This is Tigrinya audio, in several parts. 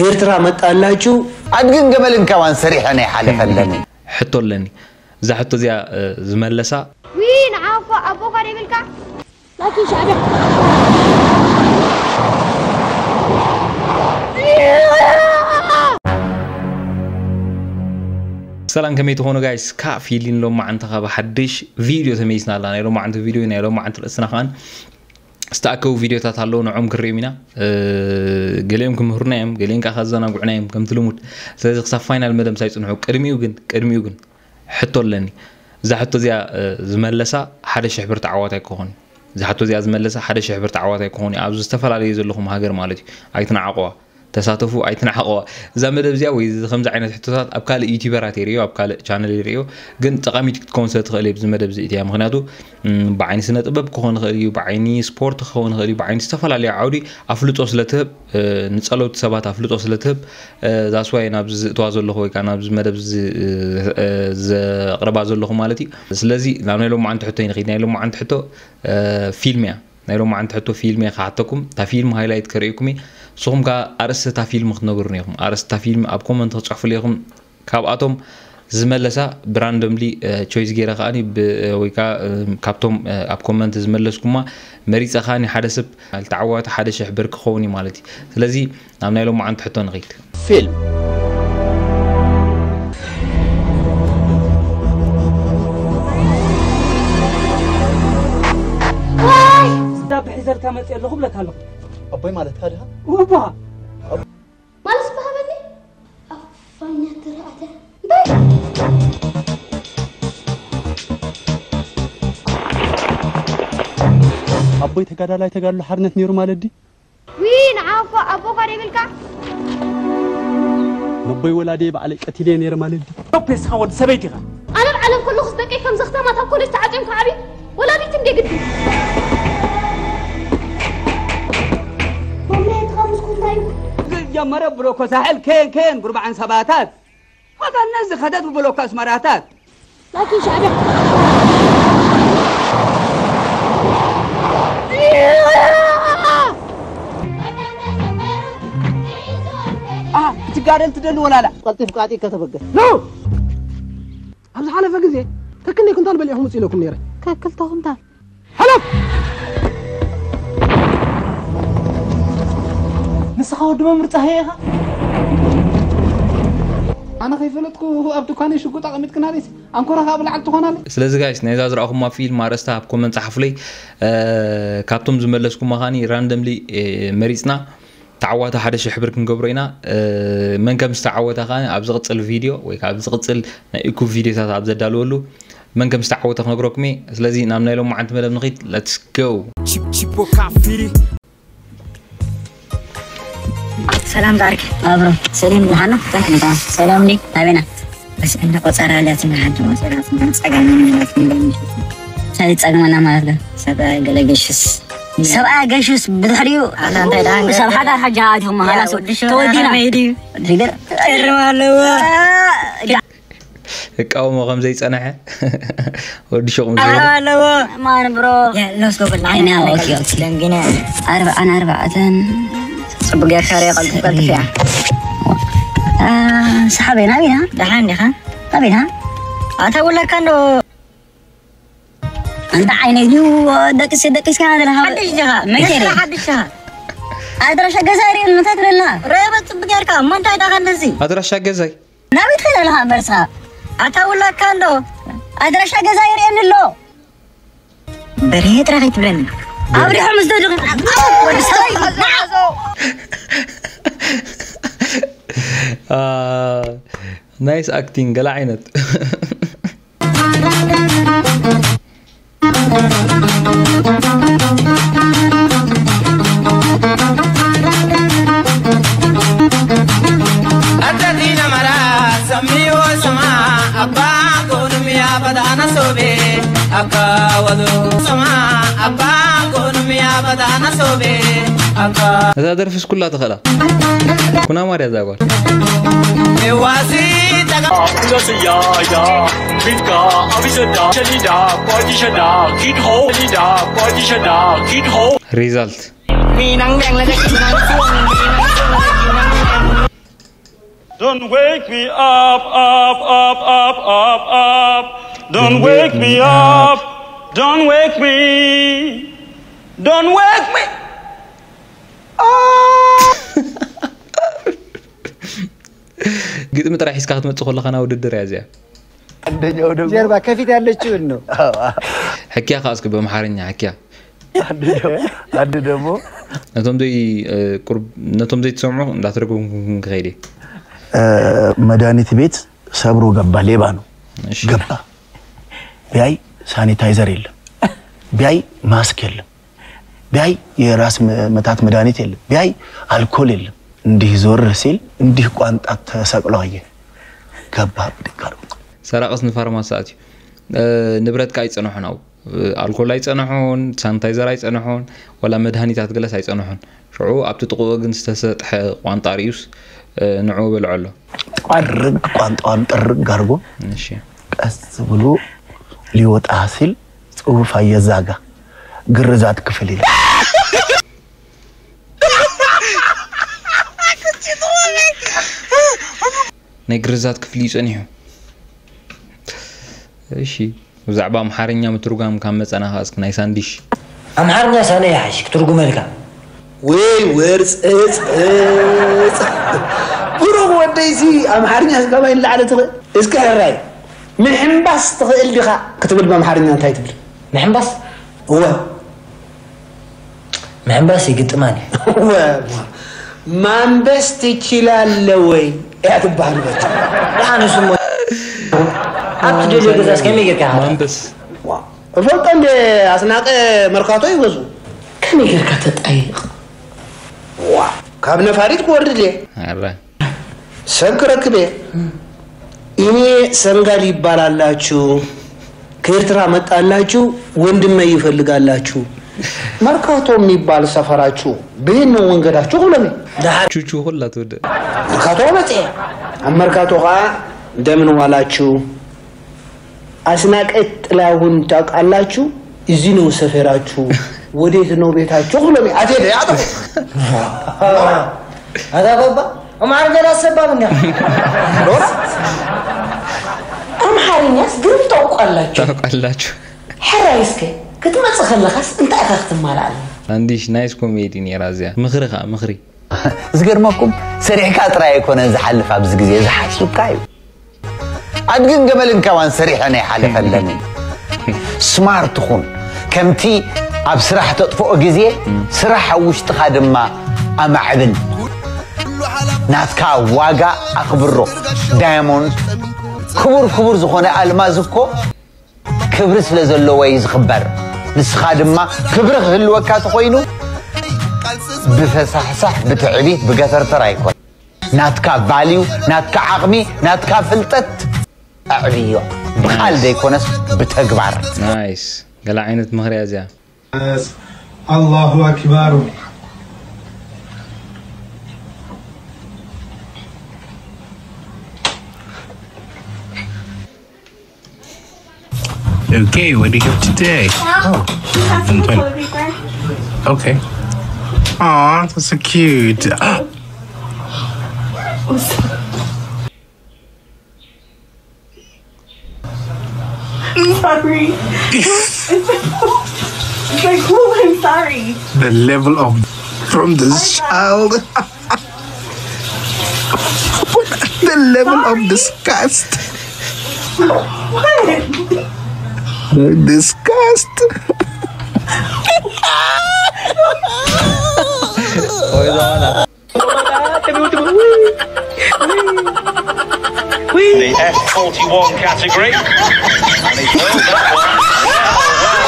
ኤርትራ መጣላችሁ። ኣድግን ገመልን ከማን ሰሪሐ ናይ ሓለፈለኒ። ሕቶ ኣለኒ። እዛ ሕቶ እዚኣ ዝመለሳ ዊ ንዓኮ ኣቦካ ደይብልካ ላኪ ሻዕብያ ሰላም ከመይ ትኾኑ ጋይስ? ካብ ፊሊን ሎማዓንቲ ካብ ሓድሽ ቪድዮ ተመይስና ኣላ። ናይ ሎማዓንቲ ቪድዮ ናይ ሎማዓንቲ ርእስና ከኣን ዝተኣከቡ ቪድዮታት ኣለዉ፣ ንዖም ክርእዮም ኢና። ገሊኦም ክምህሩና እዮም፣ ገሊኦም ከዓ ከዘናግዑና እዮም ከምቲ ልሙድ። ስለዚ ክሳብ ፋይናል መደብ ምሳይ ጽንሑ። ቅድሚኡ ግን ቅድሚኡ ግን ሕቶ ኣለኒ። እዛ ሕቶ እዚኣ ዝመለሳ ሓደ ሽሕ ብር ተዓዋታይ ክኾን። እዛ ሕቶ እዚኣ ዝመለሳ ሓደ ሽሕ ብር ተዓዋታይ ክኾን እዩ። ኣብዚ ዝተፈላለዩ ዘለኹም ሃገር ማለት እዩ። ኣይትናዓቕዋ። ተሳተፉ ኣይትናዓቕዋ። እዛ መደብ እዚኣ ወይ እዚ ከምዚ ዓይነት ሕቶታት ኣብ ካልእ ዩቲበራት ይርእዮ፣ ኣብ ካልእ ቻነል ይርእዮ፣ ግን ጠቓሚት ክትከውን ስለ ትኽእል እየ ብዚ መደብ እዚ እትያ። ምኽንያቱ ብዓይኒ ስነ ጥበብ ክኾን ይኽእል እዩ፣ ብዓይኒ ስፖርት ክኸውን ይኽእል እዩ፣ ብዓይኒ ዝተፈላለዩ ዓውዲ ኣፍልጦ ስለ ትህብ፣ ንጸለውቲ ሰባት ኣፍልጦ ስለ ትህብ፣ that's why ናብዚ ዝእትዋ ዘለኹ ወይ ከዓ ናብዚ መደብ እዚ ዘቕርባ ዘለኹ ማለት እዩ። ስለዚ ናብ ናይ ሎማዓንቲ ሕቶ ይንኺድ። ናይ ሎማዓንቲ ሕቶ ፊልም እያ። ናይ ሎማዓንቲ ሕቶ ፊልም እየ ክሓተኩም። እታ ፊልም ሃይላይት ከርእየኩም እየ። ንስኹም ከኣ ኣርእስቲ እታ ፊልም ክትነግሩኒ ኢኹም። ኣርእስቲ እታ ፊልም ኣብ ኮመንት ክትጽሕፉሉ ኢኹም። ካብኣቶም ዝመለሳ ብራንደምሊ ቾይስ ገይረ ከኣኒ ብ- ወይ ከዓ ካብቶም ኣብ ኮመንት ዝመለስኩማ መሪፀ ከኣኒ ሓደ ሰብ ዝተዓወተ ሓደ ሽሕ ብር ክኸውን እዩ ማለት እዩ። ስለዚ ናብ ናይ ሎማዓንቲ ሕቶ ንኺድ። ፊልም ስዳ ብሒዘልካ መፅእ ኣለኹ ብለካ ኣለኹ። ኣቦይ ማለትካ ድኻ? ውባ ማለት ዝባሃበኒ ኣፋኛ ተረኣተ እንታይ ኣቦይ ተጋዳላይ ተጋድሎ ሓርነት ነይሩ ማለት ድዩ? ዊ ንዓኮ ኣቦካ ደይብልካ ነቦይ ወላዴ ባዕለይ ቀቲለ ነይረ ማለት ድዩ? ዶፕ ንስኻ ወዲ ሰበይቲ ኢኻ። ኣነ ኣብ ዓለም ከለኹስ ደቀይ ከም ዘኽታማት ኣብ ኮሌጅ ተዓፅዮም ክዓብዩ ወላዲት እንደ ግዲ መምለየትኻ ምስኩ እንታይ እዩ ጀመረ ብሎኮ ሳሕል ኬን ኬን ጉርባዓን ሰባታት ወጋነት ዝኸደት ብሎኮ ኣስመራታት ላኪን ሻዕብያ ትጋደል ትደሊ ወላላ ቀልጢፍ ቃጢ ከተበገስ ኖ ኣብ ዝሓለፈ ግዜ ከክንደይ ኩንታል በሊዕኹም ውፅ ኢለኩም ነይረ ከክልተ ኩንታል ሓለፍ ንስኻ ወዲ መምህር ፀሃየ ኢኻ ኣነ ከይፈለጥኩ ኣብ ድኳነይ ሽጉጥ ኣቐሚጥክናለይሲ ኣንኮራ ከዓ ብላዕሊ ትኾናለይ ስለዚ ጋይስ ናይዛ ዝረኣኹማ ፊልም ኣርእስታ ኣብ ኮመንት ፀሓፉለይ ካብቶም ዝመለስኩማ ከኒ ራንደምሊ መሪፅና ተዓዋቲ ሓደ ሽሕ ብር ክንገብሮ ኢና መን ከም ዝተዓወተ ከዓ ኣብ ዝቕፅል ቪድዮ ወይ ከዓ ኣብ ዝቕፅል ናይ እኩብ ቪድዮታት ኣብ ዘዳልወሉ መን ከም ዝተዓወተ ክነግረኩም እየ ስለዚ ናብ ናይ ሎማዓንቲ መደብ ንኺድ let's go ሰላም ዛርክ ኣብሮ ሰሊም ብሓና እንታይ ኩነታ ሰላም ዲ ኣበና በስ እንደ ቆጸራ ለት ንሓንቲ ቆጸራ ጸጋሚ ማለት እንታይ ጸግመና ማለት ዶ ሰብኣይ ገለገሽስ ሰብኣይ ገሽስ ብድሕሪኡ ሰብ ሓዳር ሓጃ ኣትኹም ሃላስ ተወዲና ርማ ኣለዎ እቃወሞ ከም ዘይጸንሐ ወዲ ሹቕ ምስ ዝበለ ኣለዎ ማን ብሮ ሎስ ጎብል ዓይና ኦኬ ኦኬ ደንግነ ኣርባዓን ኣርባዕተን ጽቡቅ ጌርካ ሪኣ ቀልጥፍ ቀልጥፍ እያ ሰሓበይ ናቢና ደሓን ዲኻ ናቢና ኣተውለካ እንዶ ኣንታ ዓይነይ ድዩ ደቅስ ደቂስካ ዘለኻ ሓድሽ ዲኻ መቸሪ ሓድሽ ዲኻ ኣድራሻ ገዛ ሪእን እንታይ ትብለና ረበ ጽቡቅ ጌርካ እሞ እንታይ ዳኻ እንደዚ ኣድራሻ ገዛይ ናበይ ትኸይድ ኣለኻ እምበርሳ ኣታውላካ እንዶ ኣድራሻ ገዛ ይርእየኒ ኣሎ በርሄ ጥራሕ ኣይትብለኒ ኣብ ሪሖም ዝደድኹ ወዲ ሰበይ ናይስ ኣክቲንግ ገለ ዓይነት እዛ ደርፍስ ኩላ ትኽእላ ኩና ማርያ እዛ ጓል ሪዛልት Don't wake me up, up, up, up, up, up. Don't wake me up. Don't wake me. Don't wake me. ግጥሚ ጥራሕ ሒዝካ ክትመፅእ ከለኻ ና ውድድር እያ እዚኣ። አንደኛው ደግሞ ጀርባ ከፊት ያለችውን ነው። ሕክያ ከዓ እስኪ በምሓርኛ ሕክያ። አንድ ደግሞ ነቶም ዘይትሰምዑ እንዳተረጎምኩም ክኸይድ እየ። መድኃኒት ቤት ሰብሮ ገባ። ሌባ ነው። ገባ። ቢያይ ሳኒታይዘር የለም። ቢያይ ማስክ የለም። ቢያይ የራስ ምታት መድኃኒት የለም። ቢያይ አልኮል የለም። እንዲህ ዞር ሲል እንዲህ ቋንጣ ተሰቅሎ አየ። ገባ ብድግ አድርጎ። ሰራቅስ ንፋርማሲ ኣትዩ። ንብረትካ ኣይጸንሖን፣ ኣብኡ ኣልኮል ኣይጸንሖን፣ ሳኒታይዘር ኣይጸንሖን፣ ዋላ መድሃኒታት ገለስ ኣይጸንሖን። ሽዑ ኣብቲ ጥቕኡ ግን ዝተሰጥሐ ቋንጣ ርእዩስ ንዕኡ በልዖ ኣሎ። ጠርግ ቋንጣዋን ጥርግ አድርጎ እሺ። ቀስ ብሎ ሊወጣ ሲል ጽሑፍ አየ እዛ ጋ ግርዛት ክፍል ይላል። ናይ ግርዛት ክፍሊ እዩ ጸኒሑ። እሺ፣ ብዛዕባ ኣምሓርኛ ምትርጓም ካብ መጸና ከኣ እስኪ ናይ ሳንዲሽ። ኣምሓርኛ ሳነ ይሓይሽ ክትርጉመልካ። ወይ ወርፅፅፅ ብሩኽ ወደይሲ ኣምሓርኛ ካባይ ንላዕሊ ትኽእል። እስኪ ሕራይ ምሕምባስ ትኽእል ዲኻ ክትብል ብኣምሓርኛ እንታይ ትብል? ምሕምባስ እወ ምሕምባስ ይግጥማን እዩ። እወ ማንበስ ትችላለ ወይ እያ ትበሃል። በቃ ደሓን እሱ እሞ ኣብ ትደልዮ ገዛስ ከመይ ጌርካ ኢኻ? ማንበስ እፈልጦ እንደ ኣስናቀ መርካቶ ይገዝኡ። ከመይ ጌርካ ተጣይቕ? ዋ ካብ ነፋሪት ክወርድ ድየ ኣረ ሰብ ክረክብ እየ። እኔ ሰንጋል ይባላላችሁ፣ ከኤርትራ መጣላችሁ፣ ወንድሜ ይፈልጋላችሁ። መርካቶ የሚባል ሰፈራችሁ ብይን ነው መንገዳችሁ ብሎኒ። ቹቹ ኩላ ትወድእ መርካቶ መጽኤ ኣብ መርካቶ ከዓ እንደምን ዋላችሁ አስናቀ ጥላሁን ታውቃላችሁ? እዚህ ነው ሰፈራችሁ፣ ወዴት ነው ቤታችሁ ብሎኒ። አቴ አቶ ኣታ ባባ ኣምሓርኛ ዳስ ሰባብ እንዲያ ኣምሓርኛስ ግርም ታውቋላችሁ። ታውቃላችሁ። ሕራይ እስከ ክትመጽእ ከለኻስ እንታይ ኢኻ ክትማልኣልና? ሳንዲሽ ናይስ ኮሜዲ ነይራ እዚኣ። ምኽሪ ከዓ ምኽሪ። ዝገርመኩም ሰሪሕካ ጥራይ ኣይኮነን ዝሓልፍ ኣብዚ ግዜ ዝሓስብካ እዩ። ኣድግን ገመልን ካባን ሰሪሐን ኣይሓለፈለንን። ስማርት ኩን። ከምቲ ኣብ ስራሕ ተጥፍኦ ግዜ ስራሕ ኣብ ውሽጥኻ ድማ ኣማዕብል። ናትካ ዋጋ ኣኽብሮ። ዳያሞንድ ክቡር ክቡር ዝኾነ ኣልማዝ እኮ ክብሪ ስለ ዘለዎ እዩ ዝኽበር። ንስኻ ድማ ክብሪ ክህልወካ ተኾይኑ ብፈሳሕሳሕ ብትዕቢት ብገተርተር ኣይኮን። ናትካ ቫልዩ ናትካ ዓቕሚ ናትካ ፍልጠት ኣዕብዮ። ብቓል ዘይኮነስ ብተግባር። ናይስ ገለ ዓይነት ምኽሪ እያ እዚኣ። الله أكبر Okay, what do you have today? Oh, you have some Okay. clothes return. Okay. Aw, that's so cute. I'm sorry. It's like, it's like, oh, I'm sorry. The level of from this child. The level of disgust. What? Disgust. The F forty-one category. And he foiled that one.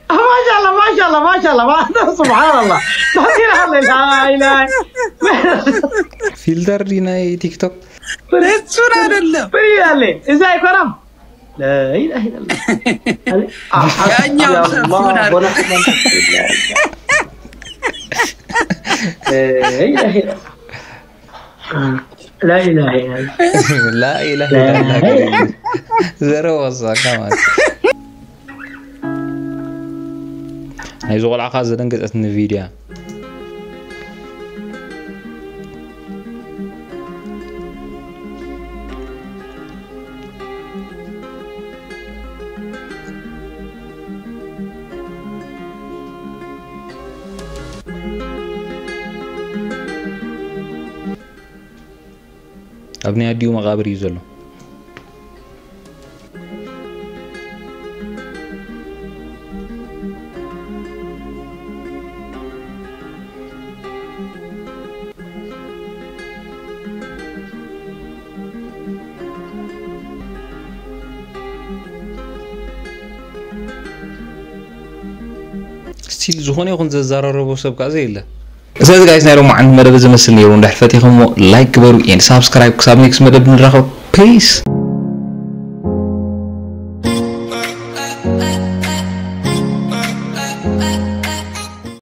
ማሻላ ማሻላ ማሻላ ማሻላ። ስብሓንላ። ላ ኢላሃ። ፊልተር ድዩ ናይ ቲክቶክ? እሱን አይደለም። ምን ይላል? እዛ አይኮራም። لا إله إلا الله. ያኛው ሰፉን አይደለም። لا إله إلا الله. لا إله إلا الله. لا إله إلا الله. زرو وصاك ما. ናይ ዝቆልዓኻ ዘደንገጸትኒ ቪድያ። ኣብ ናይ ኣዲኡ መቓብር እዩ ዘሎ። ስቲል ዝኾነ ይኹን ዘዘራረቦ ሰብ ከዓ ዘየለ። ስለዚ ጋይስ ናይ ሎማዓንቲ መደብ ዝመስል ነይሩ። እንድሕር ፈቲኹሞ ላይክ ግበሩ and ሳብስክራይብ። ክሳብ ኔክስት መደብ ንራኸብ። ፒስ።